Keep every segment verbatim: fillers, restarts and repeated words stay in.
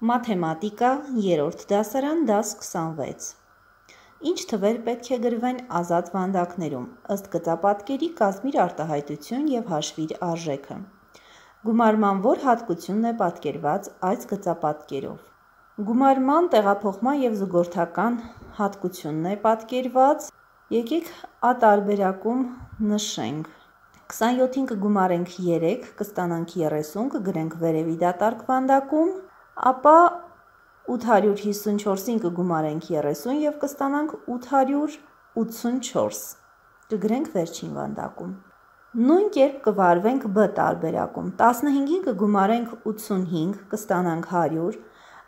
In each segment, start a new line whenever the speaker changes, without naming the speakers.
Մաթեմատիկա, երրորդ դասարան, դաս քսանվեց։ Ինչ թվեր պետք է գրվեն ազատ վանդակներում, ըստ գծապատկերի կազմիր արտահայտություն և հաշվիր արժեքը։ Գումարման որ հատկությունն է պատկերված այս գծապատկերով։ Գումարման տեղափոխման և զուգորդական հատկությունն է պատկերված, եկեք ատարբերակում նշենք։ քսանյոթին կգումարենք երեք, կստանանք երեսուն, կգրենք վերևի դատարկ վանդակում, ապա ութ հարյուր հիսունչորսին կգումարենք երեսուն և կստանանք ութ հարյուր ութսունչորս, կգրենք վերջին վանդակում։ Նույն կերպ կվարվենք բ տարբերակում, տասնհինգին կգումարենք ութսունհինգ, կստանանք հարյուր,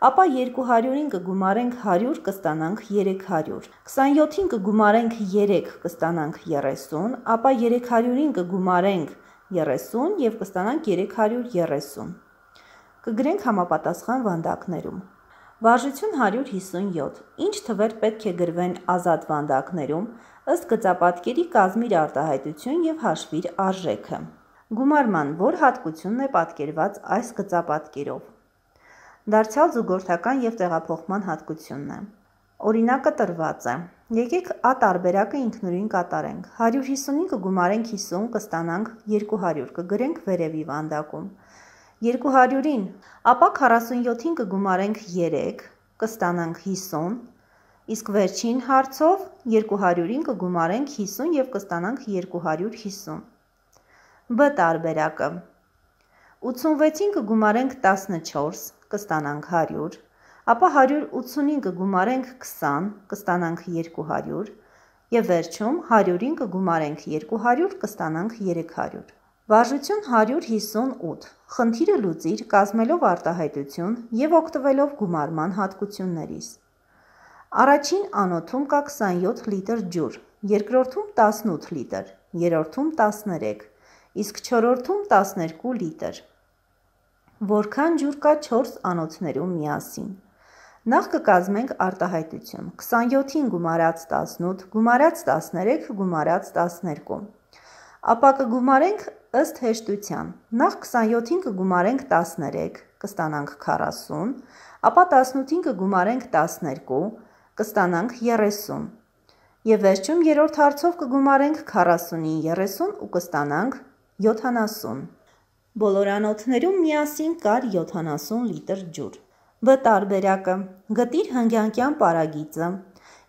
ապա երկու հարյուրին կգումարենք հարյուր, կստանանք երեք հարյուր, քսանյոթին կգումարենք երեք, կստանանք երեսուն, ապա երեք հարյուրին կգումարենք երեսուն և կստանանք երեք հարյուր երեսուն, կգրենք համապատասխան վանդակներում։ Վարժություն հարյուր հիսունյոթ, ինչ թվեր պետք է գրվեն ազատ վանդակներում, ըստ գծապատկերի կազմիր արտահայտություն և հաշվիր արժեքը։ Գումարման որ հատկությունն է պատկերված այս գծապատկերով։ Դարձյալ զուգորդական և տեղափոխման հատկությունն է։ Օրինակը տրված է։ Եկեք ա տարբերակը ինքնուրույն կատարենք։ հարյուր հիսունին կգումարենք հիսուն, կստանանք երկու հարյուր, կգրենք վերևի վանդակում։ երկու հարյուրին, ապա քառասունյոթին կգումարենք երեք, կստանանք հիսուն, իսկ վերջին հարցով երկու հարյուրին կգումարենք հիսուն և կստանանք երկու հարյուր հիսուն։ Բ տարբերակը։ ութսունվեցին կգումարենք տասնչորս, կստանանք հարյուր, ապա հարյուր ութսունին կգումարենք քսան, կստանանք երկու հարյուր և վերջում հարյուրին կգումարենք երկու հարյուր, կստանանք երեք հարյուր։ Վարժություն հարյուր հիսունութ, խնդիրը լուծիր կազմելով արտահայտություն և օգտվելով գումարման հատկություններից։ Առաջին անոթում կա քսանյոթ լիտր ջուր, երկրորդում տասնութ լիտր, երրորդում տասներեք, իսկ չորրորդում տասներկու լիտր։ Որքան ջուր կա չորս անոթներում միասին։ Նախ կկազմենք արտահայտություն, քսանյոթին գումարած տասնութ, գումարած տասներեք, գումարած տասներկու։ Ապա կգումարենք ըստ հեշտության, նախ քսանյոթին կգումարենք տասներեք, կստանանք քառասուն, ապա տասնութին կգումարենք տասներկու, կստանանք երեսուն, և վերջում երրորդ հարցով կգումարենք քառասունին երեսուն ու կստանանք յոթանասուն։ Բոլոր անոթներում միասին կար յոթանասուն լիտր ջուր։ Վ տարբերակը։ Գտիր հնգյանկյան պարագիծը,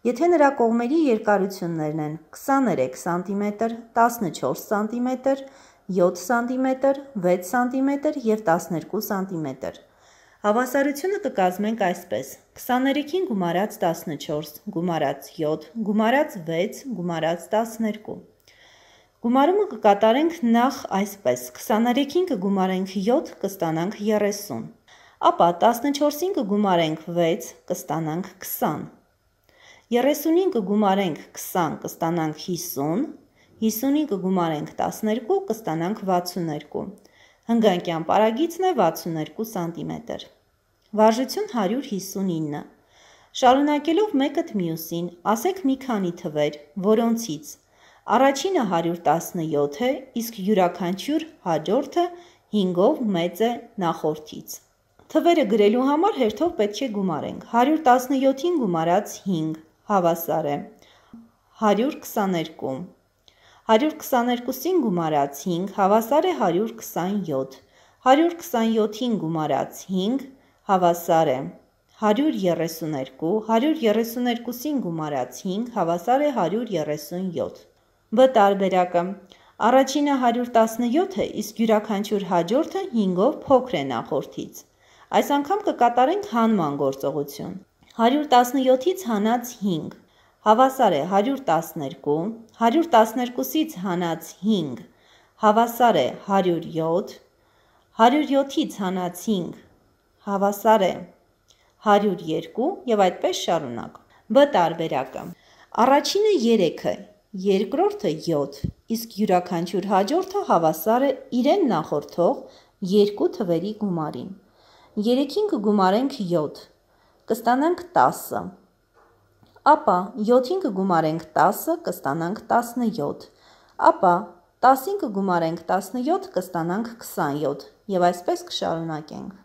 եթե նրա կողմերի երկարություններն են քսաներեք սանտիմետր, տասնչորս սանտիմետր, յոթ սանտիմետր, վեց սանտիմետր և տասներկու սանտիմետր։ Հավասարությունը կկազմենք այսպես. քսաներեքին գումարած տասնչորս, գումարած յոթ, գումարած վեց, գումարած տասներկու։ Գումարումը կկատարենք նախ այսպես. քսաներեքին կգումարենք յոթ, կստանանք երեսուն, ապա տասնչորսին կգումարենք վեց, կստանանք քսան, երեսունին կգումարենք քսան, կստանանք հիսուն, հիսունին կգումարենք տասներկու, կստանանք վաթսուներկու։ Հնգանկյան պարագիծն է վաթսուներկու սանտիմետր։ Վարժություն հարյուր հիսունինը։ Շարունակելով մեկըդ մյուսին, ասեք մի քանի թվեր, որոնցից առաջինը հարյուր տասնյոթ է, իսկ յուրաքանչյուր հաջորդը հինգով մեծ է նախորդից։ Թվերը գրելու համար հերթով պետք է գումարենք։ հարյուր տասնյոթին գումարած հինգ հավասար է հարյուր քսաներկու, հարյուր քսաներկուսին գումարած հինգ հավասար է հարյուր քսանյոթ, հարյուր քսանյոթին գումարած հինգ հավասար է հարյուր երեսուներկու, հարյուր երեսուներկուսին գումարած հինգ հավասար է հարյուր երեսունյոթ։ Բ տարբերակը։ Առաջինը հարյուր տասնյոթ է, իսկ յուրաքանչյուր հաջորդը հինգով փոքր է նախորդից։ Այս անգամ կկատարենք հանման գործողություն։ հարյուր տասնյոթից հանած հինգ հավասար է հարյուր տասներկու, հարյուր տասներկուսից հանած հինգ հավասար է հարյուր յոթ, հարյուր յոթից հանած հինգ հավասար է հարյուր երկու և այդպես շարունակ։ Բ տարբերակը։ Առաջինը երեք է, երկրորդը յոթ, իսկ յուրաքանչյուր հաջորդը հավասար է իրեն նախորդող երկու թվերի գումարին։ երեքին կգումարենք յոթ, կստանանք տասը, ապա յոթին կգումարենք տասը, կստանանք տասնյոթ, ապա տասին կգումարենք տասնյոթ, կստանանք քսանյոթ և այսպես կշարունակենք։